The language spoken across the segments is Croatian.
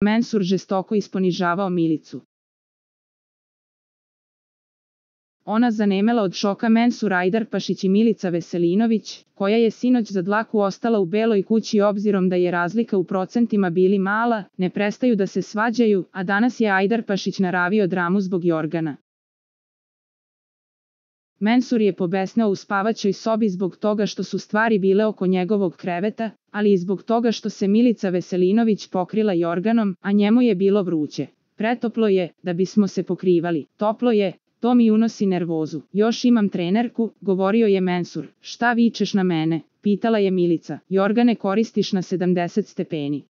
Mensur žestoko isponižavao Milicu. Ona zanemela od šoka. Mensur Ajdarpašić i Milica Veselinović, koja je sinoć za dlaku ostala u Beloj kući obzirom da je razlika u procentima bili mala, ne prestaju da se svađaju, a danas je Ajdarpašić naravio dramu zbog Jorgana. Mensur je pobesneo u spavaćoj sobi zbog toga što su stvari bile oko njegovog kreveta, ali i zbog toga što se Milica Veselinović pokrila Jorganom, a njemu je bilo vruće. Pretoplo je, da bismo se pokrivali. Toplo je, to mi unosi nervozu. Još imam trenerku, govorio je Mensur. Šta vičeš na mene? Pitala je Milica. Jorgane, koristiš na 70 stepeni.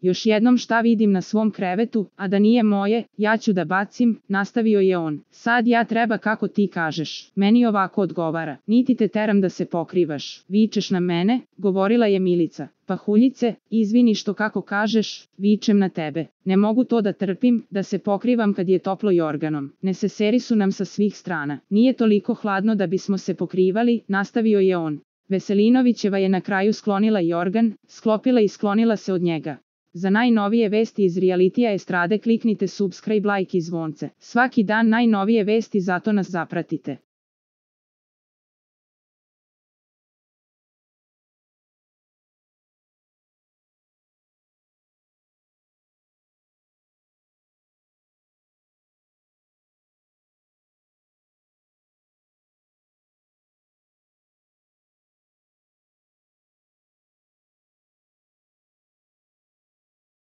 Još jednom šta vidim na svom krevetu, a da nije moje, ja ću da bacim, nastavio je on. Sad ja treba kako ti kažeš. Meni ovako odgovara. Niti te teram da se pokrivaš. Vičeš na mene, govorila je Milica. Pahuljice, izvini što kako kažeš, vičem na tebe. Ne mogu to da trpim, da se pokrivam kad je toplo Jorganom. Neseseri su nam sa svih strana. Nije toliko hladno da bismo se pokrivali, nastavio je on. Veselinovićeva je na kraju sklonila Jorgan, sklopila i sklonila se od njega. Za najnovije vesti iz realitija estrade kliknite subscribe, like i zvonce. Svaki dan najnovije vesti, zato nas zapratite.